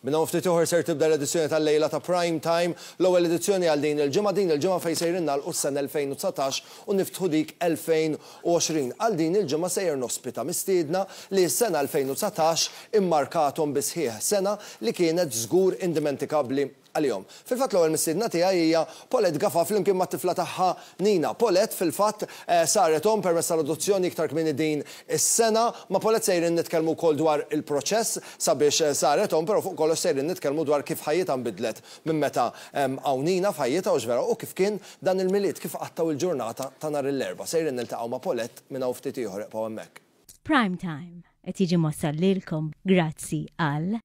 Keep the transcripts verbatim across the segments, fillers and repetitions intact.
Minn hawn ftit ieħor ser tibda l-edizzjoni tal-lejla ta' Prime Time, l-ewwel edizzjoni għal din il-ġimgħa, din il-ġimgħa fejn sejrin nagħlqu s-sena elfejn u dsatax u niftħu dik elfejn u għoxrin. Għal din il-ġimgħa sejjer nospita mistiedna li s-sena elfejn u dsatax immarkathom bi sħiħ, sena li kienet żgur indimentikabbli għalihom. Fil-fatt l-ewwel mistiedna tiegħi hija Paulette Gafa flimkien mat-tifla tagħha Nina. Paulette fil-fatt, eh, saret omm permezz tal-adozzjoni iktar kmieni din is-sena. Ma' Paulette sejrin nitkellmu wkoll dwar il-proċess sabiex, eh, saret omm, però fuq kollox sejrin nitkellmu dwar kif ħajjitha nbidlet minn meta, em, hawn Nina f'ħajjitha u x'vera u kif kien dan il-Milied, kif qattaw il-ġurnata ta' nhar l-Erbgħa. Sejrin niltaqgħu ma' Paulette minn hawn ftit ieħor, ibqgħu hemmhekk. Prime Time qed jiġi mwassal lilkom grazzi għal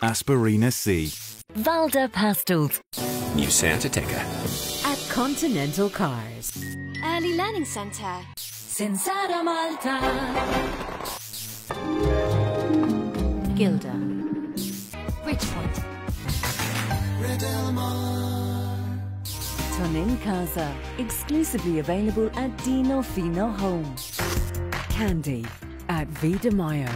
Aspirina C, Valda Pastels, New Seat Ateca, at Continental Cars, Early Learning Centre, Sinsara Malta, Gilda, Bridgepoint, Tonin Casa, exclusively available at Dino Fino Home, Candy at Vida Mayo.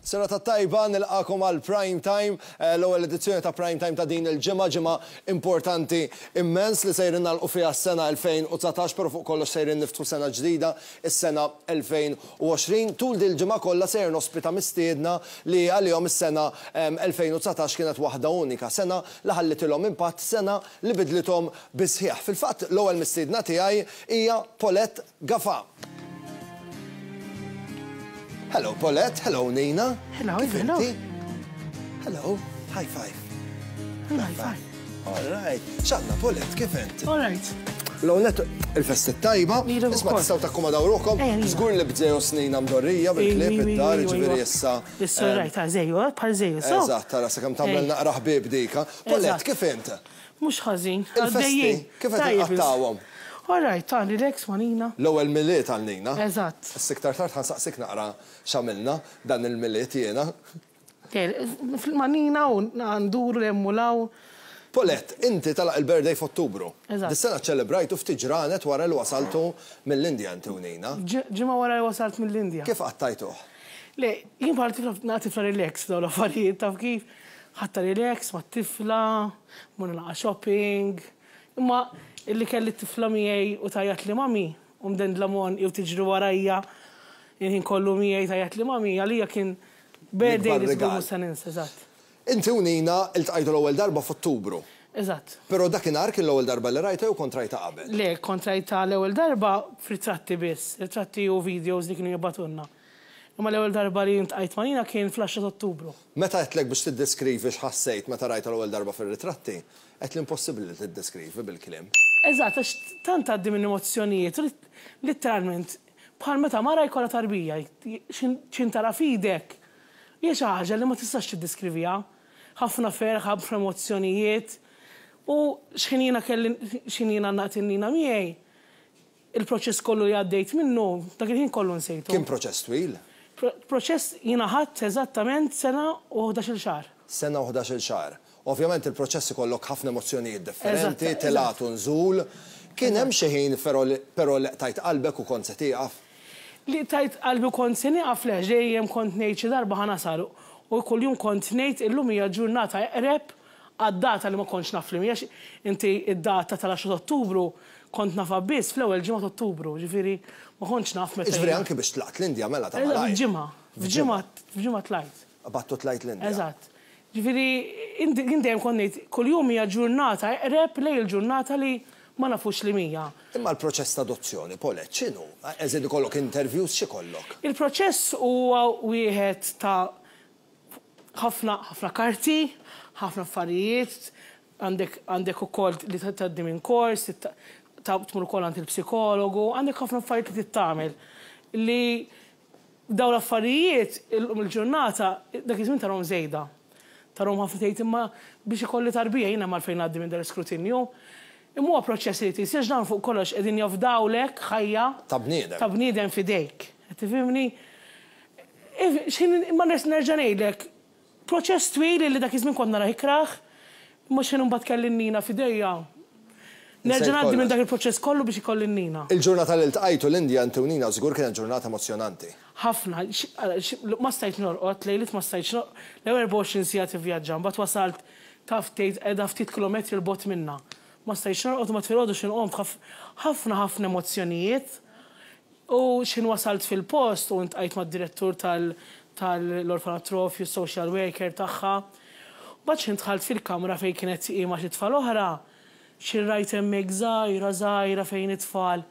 Serata tajba, nilqakom għal Prime Time, eh, l-ewwel edizzjoni ta' Prime Time ta' din il-ġimgħa, ġimgħa importanti immens li sejrin nagħlqu fiha s-sena elfejn u dsatax, però fuq kollox sejrin niftħu sena ġdida, is-sena elfejn u għoxrin. Tul din il-ġimgħa kollha sejrin ospita mistiedna li għalihom is-sena, em, elfejn u dsatax kienet waħda unika, sena li ħallitilhom impatt, sena li bidlithom bisħieħ. Fil-fatt l-ewwel mistiedna tiegħi hija Paulette Gafa. Hello Paulette, hello Nina. Hello, Kif hello. inti? Hello, high five. Hello, high five. All right. X'għandna Paulette, kif inti? All right. L-ewwel il-festi tajba, Lilek isma' ukoll. tistgħu takkomodaw ruħkom. Ejja, Nina. Żgur li bżejju snina mdorrija bil-klieb Ejja, id-dar, ejja, ġifieri ejja. issa, Issa eh, rajt, ta' żejju, eh, bħal żejju, so. Eżatt, tara sakemm tagħmel Ejja. naqra ħbieb dika. Paulette, Eżatt. kif int? Mhux ħażin, Il-festi, għaddejjin. kif qed Tajjeb, inqattawhom? All right, ta' relax ma' Nina. L-ewwel Milied għal Nina. Eżatt. Issa iktar tard ħansaqsik naqra x'għamilna dan il-Milied jiena. Ma' Nina u nduru 'l hemm u 'l hawn. Paulette, inti talaq il-birthday f'Ottubru. Eżatt. Dis-sena ċelebrajtu ftit ġranet wara li wasaltu mill-Indja inti u Nina. Ġ-, ġimgħa wara li wasalt mill-Indja. Kif qattajtuh? Le, jien bħal tifla nagħti tifla relax dawn l-affarijiet, taf kif? Ħatta relax ma' tifla, morna naqa' shopping. Imma illi kelli t-tifla miegħi u tajjat li mami, u mdendla mon jew tiġri warajja, il-ħin kollu miegħi tajjat li mami, għalija kien birthday li żgur rigal. mhux se ninsa, eżatt. Inti u Nina iltqajtu l-ewwel darba f'Ottubru. Eżatt. Però dakinhar kien l-ewwel darba li rajta jew kont rajta qabel? Le, kont rajta l-ewwel darba f'ritratti biss, ritratti u videos li kienu jibgħatulna. Imma l-ewwel darba li iltqajt ma' Nina kien fl-għaxra ta' Ottubru. Meta għedtlek biex tiddeskrivi x'ħassejt meta rajta l-ewwel darba fir-ritratti, għedt li impossibbli li tiddeskrivi bil-kliem. Eżatt, għax tant għaddi minn emozzjonijiet, lit-, letteralment, bħal meta mara jkollha tarbija, x'in tara f'idek, hija xi ħaġa li ma tistax tiddeskriviha. Ħafna ferħ, ħafna emozzjonijiet, u x'ħin jiena kelli, x'ħin jiena naqt in-Nina miegħi, il-proċess kollu li għaddejt minnu, dak il-ħin kollu nsejtu. Kien proċess twil? Pro-, proċess jiena ħadt eżattament sena u ħdax-il xahar. Sena u ħdax-il xahar. Ovvjament il-proċess ikollok ħafna emozzjonijiet differenti, Eżatt, telgħat u nżul. Kien hemm Eżatt. xi ħin però li, però li tajt qalbek u kont se tieqaf? Li tajt qalbi u kont se nieqaf le, dejjem kont ngħid xi darba ħa nasal. U kuljum kont ngħid illum hija ġurnata eqreb għad-data li ma kontx naf li mhijiex inti id-data tal-għaxra ta' Ottubru kont nafha biss fl-ewwel ġimgħa ta' Ottubru, ġifieri ma kontx naf meta Ġifieri jiena. anke biex tlaqt l-Indja mela ta' Eżatt, malajr. F'ġimgħa, f'ġimgħa, f'ġimgħa tlajt. Battu tlajt l-Indja. Eżatt. Ġifieri jien dejjem kont ngħid kuljum hija ġurnata eqreb lejn il-ġurnata li ma nafux li mija. Imma l-proċess ta' adozzjoni, Paulette, x'inhu? Eżid ikollok interviews, x'ikollok? Il-proċess huwa wieħed ta' ħafna, ħafna karti, ħafna affarijiet, għandek, għandek ukoll li tgħaddi minn kors, ta-, ta-, tmur ukoll għand il-psikologu, għandek ħafna affarijiet li tittamel. Li dawn l-affarijiet illum il-ġurnata dak iż-żmien tarhom żejda. Tarhom ħafna tgħid imma biex ikolli tarbija jiena mal fejn ngħaddi minn dan l-iskrutinju. Imma huwa proċess li tisir dan fuq kollox qegħdin jafdawlek ħajja Ta' bniedem. Ta' bniedem f'idejk. Qed tifhimni? X'ħin imma nerġa' ngħidlek, proċess twil li dak iż-żmien kont nara ikrah, imma x'ħin imbagħad kelli Nina f'idejja. Nerġa' ngħaddi minn dak il-proċess kollu biex ikolli n-Nina. Il-ġurnata li ltqajtu l-Indja inti u Nina żgur kienet ġurnata emozjonanti. Ħafna, ma stajt norqod, lejliet ma stajtx norqod, l-ewwel erbgħa u għoxrin siegħa tivvjaġġa, mbagħad wasalt taf tgħid qiegħda ftit kilometri 'l bogħod minna. Ma stajtx norqod u ma filgħodu x'inqom ħafna ħafna emozzjonijiet. U x'ħin wasalt fil-post u ntqajt mad-direttur tal-orfanatrofju, social worker tagħha. Mbagħad x'ħin dħalt fil-kamra fejn kienet hi ma' xi tfal oħra, x'ħin rajt hemmhekk żgħira żgħira fejn it-tfal.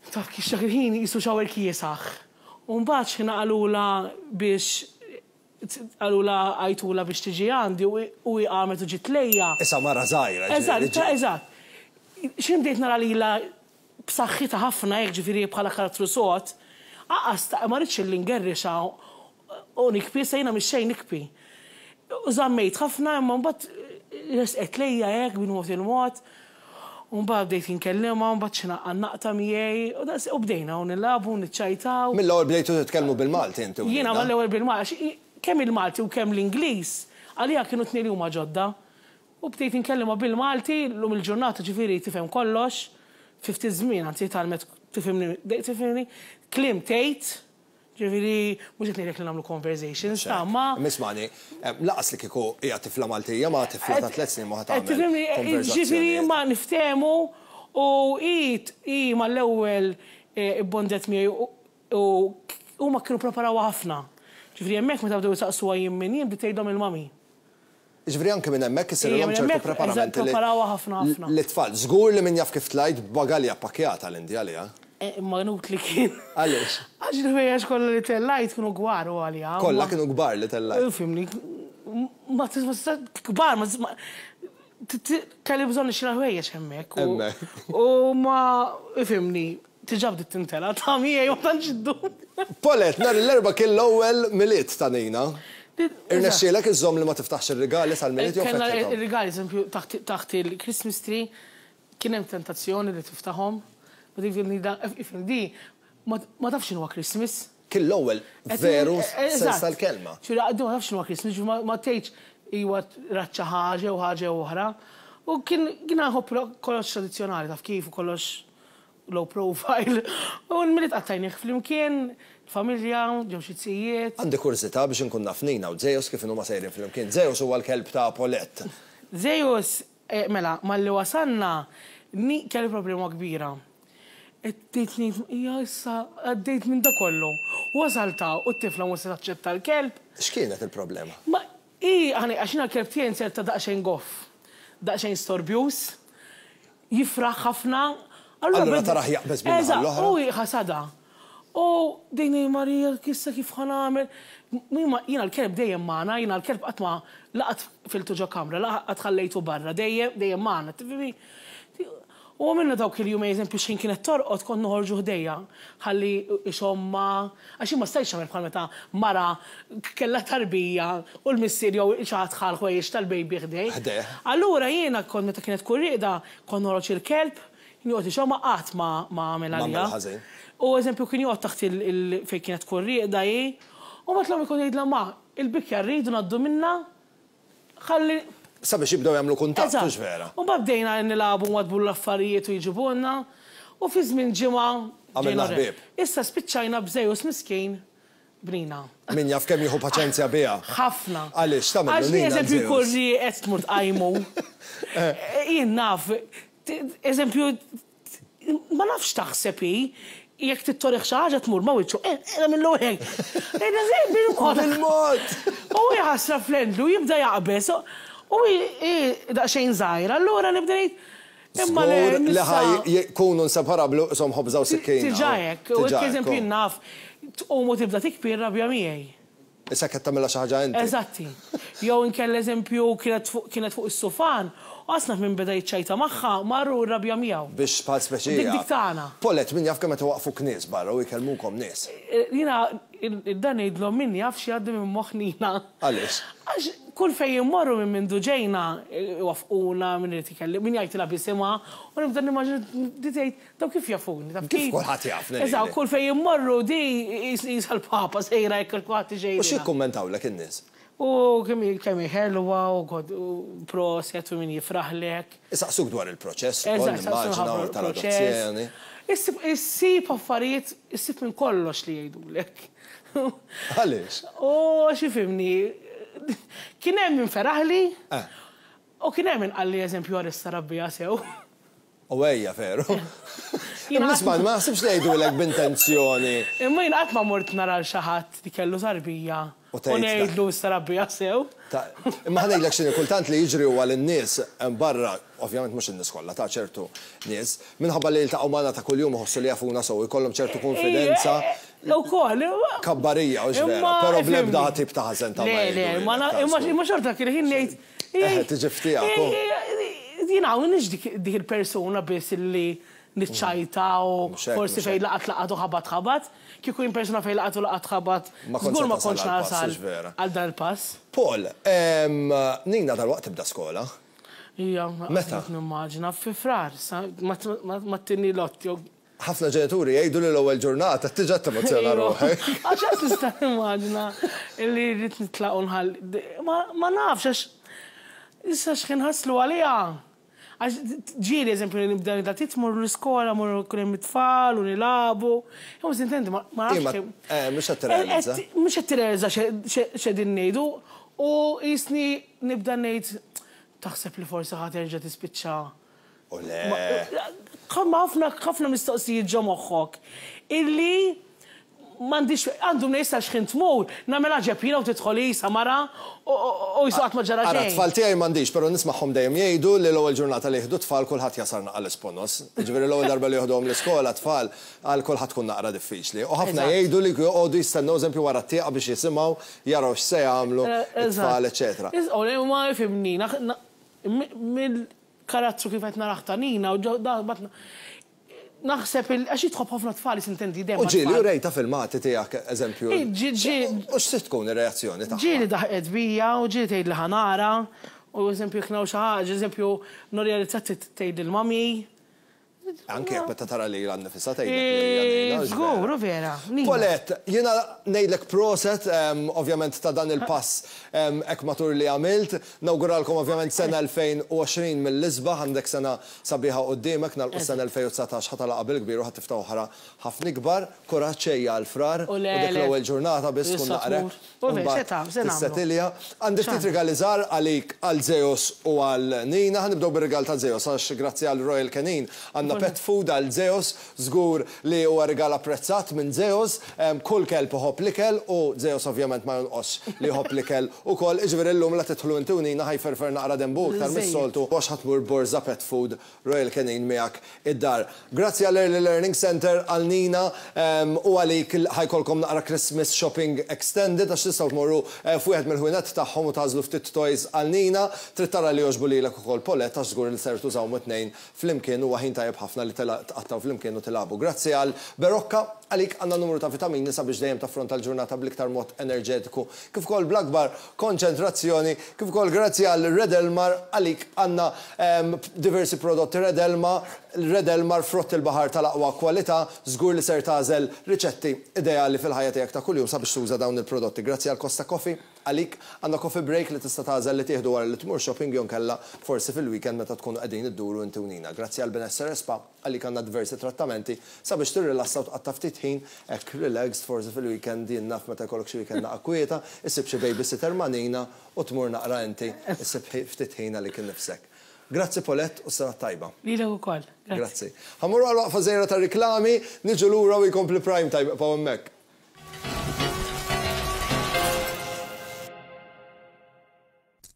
Taf kif dak il-ħin qisu shower kiesaħ. U mbagħad x'ħin qalula biex qalula għajtula biex tiġi għandi u hi qamet u ġiet lejja. Issa mara żgħira. Eżatt, eżatt. X'ħin bdejt nara lilha b'saħħitha ħafna hekk ġifieri bħala karattru sod, aqas ma rridx illi ngerrixa u nikbi, sa jiena mhix xejn nikbi. U żammejt ħafna imma mbagħad resqet lejja hekk bil-mod il-mod. U mbagħad bdejt inkellimha, mbagħad xi naqta miegħi, u bdejna u nilagħbu, niċċajtaw. Mill-ewwel bdejtu titkellmu bil-Malti inti. Jiena mal-ewwel bil-Malti, kemm il-Malti u kemm l-Ingliż, għalija kienu tnejn li huma ġodda. U bdejt inkellimha bil-Malti, llum il-ġurnata ġifieri tifhem kollox, fi ftit żmien anzi tgħallmet tifhimni, tifhimni, kliem tgħid, ġifieri mhux qed ngħidlek li nagħmlu conversations ta' ma. Mismani, laqas li kieku hija tifla Maltija ma tifla ta' tliet snin ma tagħmel. Ġifieri ma niftehmu u hi hi mal-ewwel ibbondet miegħi u huma kienu preparawha ħafna. Ġifieri hemmhekk meta bdew jisaqsuha jien min jien bdiet tgħidhom il-mami. Ġifieri anke minn hemmhekk isirhom ċertu preparamenti. Preparawha ħafna ħafna. L-itfal, żgur li min jaf kif tlajt b'bagalja pakkjata l-Indja għaliha. Imma nut li kien. Għaliex? Għax il-ħwejjeġ kollha li tellajt kienu kbar u għalija. Kollha kienu kbar li tellajt. Fimni, ma kbar, ma kelli bżonn nixtri ħwejjeġ hemmhekk. Hemmhekk. U ma fimni, diġà bdiet tintela' ta' miegħi ma tantx iddum. Paulette, nhar l-Erbgħa kien l-ewwel Milied ta' Nina. Irnexxielek iżżomm li ma tiftaħx ir-rigali sal-Milied jew Kellna ir-rigali, eżempju, taħt il-Christmas tree kien hemm tentazzjoni li tiftaħhom. Ma dik di ma tafx x'inhuwa Christmas. Kien l-ewwel veru sens tal-kelma. Ċura għaddu ma tafx x'inhuwa Christmas, ma tgħidx iwa raċċa ħaġa u ħaġa oħra. U kien kien nħobb kollox tradizzjonali taf kif u kollox low profile. U l-Milied qattajnih flimkien, familja, ġew xi tzijiet. Għandi kurżità biex inkun naf Nina u Zeus kif inhuma sejrin flimkien. Zeus huwa l-kelb ta' Paulette. Zeus, mela, malli wasalna, kelli problema kbira. Għedt ngħid, hija issa għaddejt minn da kollu. Wasalta u t-tifla mhux se taċċetta l-kelb. X'kienet il-problema? Ma hi għax jiena l-kelb tiegħi inserta daqsxejn goff, daqsxejn storbjuż, jifraħ ħafna. Allura taraħ jaqbeż minn naħa l-oħra. U ħasada. U dejni Marija, kissa kif ħa nagħmel. Jiena l-kelb dejjem magħna, jiena l-kelb qatt ma laqat filtu ġo kamra, laqat ħallejtu barra, dejjem dejjem magħna, tifhimni? U għamilna dawk il-jumejn, eżempju, x'ħin kienet torqod kont noħorġu ħdejja, ħalli ixomma, għax jien ma stajtx nagħmel bħal meta mara kellha tarbija u l-missier jew xi ħadd ħa l-ħwejjeġ tal-baby ħdej. Ħdejh. Allura jiena kont meta kienet tkun rieqda, kont noħroġ il-kelb, joqgħod ixomma qatt ma għamel għalija. ħażin. U eżempju kien joqgħod taħt il fejn kienet tkun rieqda hi, u mbagħad l-omm ikun jgħidilha ma, il-bikja rridu ngħaddu minna, ħalli Sabiex jibdew jagħmlu kuntatt, hux vera. U mbagħad bdejna nilagħbu wadbu l-affarijiet u jġibulna, u fi żmien ġimgħa Għamilna ħbieb. Issa spiċċajna b'Zeus miskin bnina. Min jaf kemm jieħu paċenzja biha. Ħafna. Għaliex tagħmel Għax li eżempju jkun rieqed tmur tqajmu. Jien naf, eżempju, ma nafx taħseb hi, jekk tittorih xi ħaġa tmur ma wiċċu, eh, minnu hekk. Bil-mod. Bil-mod. U jħassra fl-endlu, jibda jaqbeż. U daqsxejn żgħira, allura nibda ngħid imma le Li ħaj jkunu inseparabbli qishom ħobża u sikkina. Tiġa hekk, u eżempju jien naf, tqum u tibda tikbi r-rabja miegħi. Issa qed tagħmilha xi ħaġa inti. Eżatti. Jew inkella eżempju kienet fuq is-sufan, u qasna minn beda jiċċajta magħha, marru r-rabja miegħu. Biex bħal speċi. Dik dik tagħna. Paulette, min jaf kemm qed iwaqqfuk nies barra u jkellmukom nies. Jiena dan ngħidlhom min jaf x'jgħaddi minn moħħ Nina. Għaliex? Għax kull fejn immorru minn mindu ġejna iwaffquna, min irid ikellim, min jgħidilha bisimha, u nibda nimmaġina di tgħid daw kif jafuni, taf kif kulħadd jafni. Eżatt, kull fejn immorru di jisal papa sejra jekk kulħadd ġejna. U xi jikkummentawlek in-nies? U kemm ħelwa u proset u min jifraħlek. Isaqsuk dwar il-proċess, ukoll nimmaġina tal-adozzjoni. Issib affarijiet, issib minn kollox li jgħidulek. Għaliex? U xifimni, kien hemm min feraħli u kien hemm min qalli eżempju għarista rabbija sew. U ejja veru. Nisma' ma naħsibx li jgħidulek b'intenzjoni. Imma jien qatt ma mort nara l xi ħadd li kellu tarbija. U ngħidlu s-sarabbija sew. Imma ħa ngħidlek x'inhi, kultant li jiġri huwa lin-nies barra, ovvjament mhux in-nies kollha, ta' ċertu nies, minħabba li jiltaqgħu magħna ta' kuljum iħossu li jafuna sew, jkollhom ċertu konfidenza. Ukoll. Kabbarija u x'vera, però bl-ebda tip ta' ħażen ta' Le, le, imma xorta kien ħin ngħid. Tiġi ftiegħek. Jien hawn m'iniex dik il-persuna biss illi niċċajta u forsi fejn laqat laqat u ħabat ħabat. Kieku jien persuna fejn laqat u laqat ħabat, żgur ma kontx nasal għal dan il-pass. Paul, Nina dalwaqt tibda skola? Ija, meta? Nimmaġina fi Frar, ma tinni lotti. Ħafna ġenituri jgħidu li l-ewwel ġurnata tiġa temozzjona ruħek. Għax qed tista' nimmaġina li rrid nitlaq u nħalli. Ma nafx għax issa x'ħin ħaslu għaliha. Għax ġieli, eżempju, nibda nibda titmur l-iskola, mur kull hemm it-tfal u nilagħbu. Jew sintendi, ma nafx. Mhux qed tirrealizza. Mhux qed tirrealizza x'qegħdin ngħidu u jisni nibda ngħid taħseb li forsi ħa terġa' tispiċċa. U le. Ħafna ħafna mistoqsijiet ġo moħħok illi m'għandix għandu mnejn x'ħin tmur, nagħmel ġeb jiena u tidħol isa mara u jisu qatt ma ġara xejn. Ara tfal tiegħi m'għandix, però nismagħhom dejjem jgħidu li l-ewwel ġurnata li jieħdu tfal kulħadd jasal naqal l-isponos. Jiġifieri l-ewwel darba li jieħduhom l-iskola tfal għal kulħadd tkun naqra diffiċli. U ħafna jgħidu li joqogħdu jistennew eżempju wara t-tieqa biex jisimgħu jaraw x'se jagħmlu it-tfal, eċetera. Ma jifhimni, mill-karattru kif qed narah ta' Nina u naħseb għax jitħobb ħafna tfal sintendi dejjem. U ġieli u rejta filmati tiegħek eżempju. U x'se tkun ir-reazzjoni tagħha? Ġieli daħqet bija u ġieli tgħid li ħanara u eżempju jekk xi ħaġa, eżempju norrealizzat tgħid lill-mami. Anke jekk meta tara lilha nnifisha tgħidlek. Żgur, vera. Paulette, jiena ngħidlek proset ovvjament ta' dan il-pass hekk matur li għamilt. Nawguralkom ovvjament sena elfejn u għoxrin mill-isbaħ, għandek sena sabiħa quddiemek, nagħlqu sena elfejn u dsatax ħa tagħlaqha bil-kbir u ħa tiftaħ oħra ħafna ikbar. Kuraġġ ejja għal Frar u dik l-ewwel ġurnata biss tkun naqrek. Tissetilja. Għandi ftit rigali żgħar għalik għal Zeus u għal Nina. Ħa nibdew bir-rigal ta' Zeus għax grazzi għal Royal Canin għandna pet food għal Zeus, żgur li huwa rigal apprezzat minn Zeus, kull kelb iħobb l-ikel u Zeus ovvjament ma jonqosx li jħobb l-ikel ukoll. Jiġifieri llum la tidħlu inti u Nina ħajferfer naqra dembu iktar mis-soltu għax ħa tmur borża pet food Royal Canin miegħek id-dar. Grazzi għal Early Learning Center għal Nina u għalik ħajkolkom naqra Christmas shopping extended għax tistgħu tmorru f'wieħed mill-ħwienet tagħhom u tażlu ftit toys għal Nina. Trid tara li jogħġbu lilek ukoll Paulette għax żgur li ser tużawhom it-tnejn flimkien huwa ħin tajjeb ħafna li tqattaw flimkien u tilagħbu. Grazzi għal Berocca, għalik għandna numru ta' vitamini sabiex dejjem taffronta l-ġurnata bl-iktar mod enerġetiku, kif ukoll bl-akbar konċentrazzjoni, kif ukoll grazzi għal Red Elmar, għalik għandna diversi prodotti Red Elmar, Red Elmar frott il-baħar tal-aqwa kwalità, żgur li ser tagħżel riċetti ideali fil-ħajja tiegħek ta' kuljum sabiex tuża dawn il-prodotti. Grazzi għal Costa Coffee, għalik għandna coffee break li tista' tagħżel li tieħdu wara li tmur shopping jew kellha forsi fil-weekend meta tkunu qegħdin idduru inti u Nina. Grazzi għal Benessere Spa, għalik għandna diversi trattamenti sabiex tirrilassa u tqatta' ftit ħin hekk relaxed forsi fil-weekend jien naf meta jkollok xi weekend naqra kwieta, issib xi babysitter ma' Nina u tmur naqra inti issib ftit ħin għalik innifsek. Grazzi Paulette u sena tajba. Lilek ukoll. Grazzi. Ħa mmorru għal waqfa żgħira ta' riklami, niġu lura u jkompli Prime Time ibqgħu hemmhekk.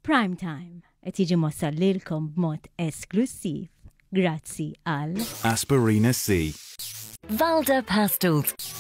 Prime Time qed jiġi mwassal lilkom b'mod esklusiv grazzi għal Aspirina C. Valda Pastels.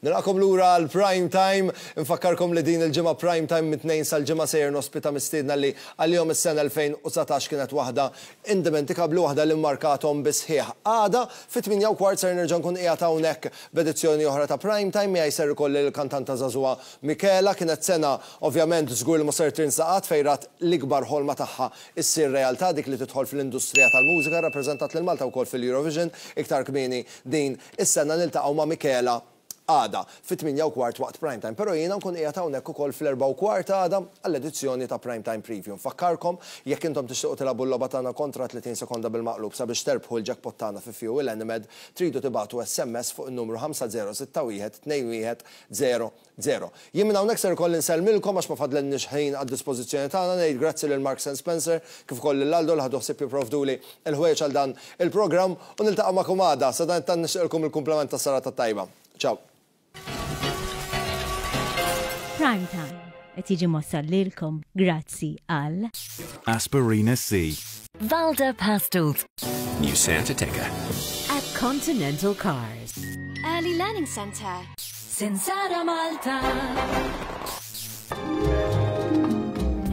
Nilqakom lura għal Prime Time. Nfakkarkom li din il-ġimgħa Prime Time mit-tnejn sal-ġimgħa sejjer nospita mistiedna li għal-jom is-sena elfejn u dsatax kienet waħda indimentikabbli, waħda li mmarkathom bisħieħ. Għada fit-tmienja u kwart ser nerġa' nkun qiegħed hawnhekk b'edizzjoni oħra ta' Prime Time, miegħi ser ikolli l-kantanta żagħżugħa Michela. Kienet sena ovvjament żgur li ma ser tinsaqat fejn rat l-ikbar ħolma tagħha issir realtà, dik li tidħol fl-industrija tal-mużika, rappreżentat lil Malta wkoll fil-Eurovision iktar kmieni din is-sena. Niltaqgħu ma' Michela Għada fit-tmienja u kwart waqt Prime Time, però jiena nkun qiegħed hawnhekk ukoll fl-erbgħa u kwart għada għall-edizzjoni ta' Prime Time Preview. Nfakkarkom, jekk intom tixtiequ tilagħbu l-logħba tagħna kontra tletin sekonda bil-maqlub sabiex terbħu l-jackpot tagħna fi Fuel Enemed, tridu tibagħtu S M S fuq in-numru ħamsa żero sitta wieħed tnejn wieħed żero żero. Jien minn hawnhekk ser ikolli nsellmilkom għax ma fadlilniex ħin għad-dispożizzjoni tagħna. Ngħid grazzi lil Marks and Spencer kif ukoll lil Aldo li ħadu ħsieb jipprovduli il-ħwejjeġ għal dan il-programm u niltaqa' magħkom għada. Sadanittant nixtieqilkom il-kumplament tas-serata tajba. Ciao. Prime Time qed jiġi mwassal lilkom grazzi għal Aspirina C. Valda Pastels. New Seat Ateca. At Continental Cars. Early Learning Centre. Sinsara Malta.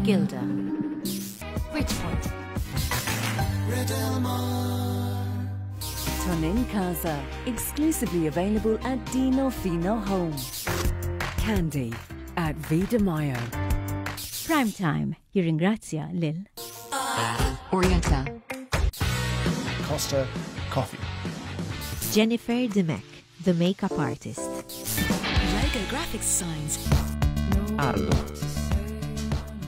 Gilda. Bridgepoint. Tonin Casa. Exclusively available at Dino Fino Home. Candy at Vida Mayo. Prime Time jirringrazzja lil Orienta. Costa Coffee. Jennifer Dimech, the makeup artist. Logo Graphics Signs. Arlo.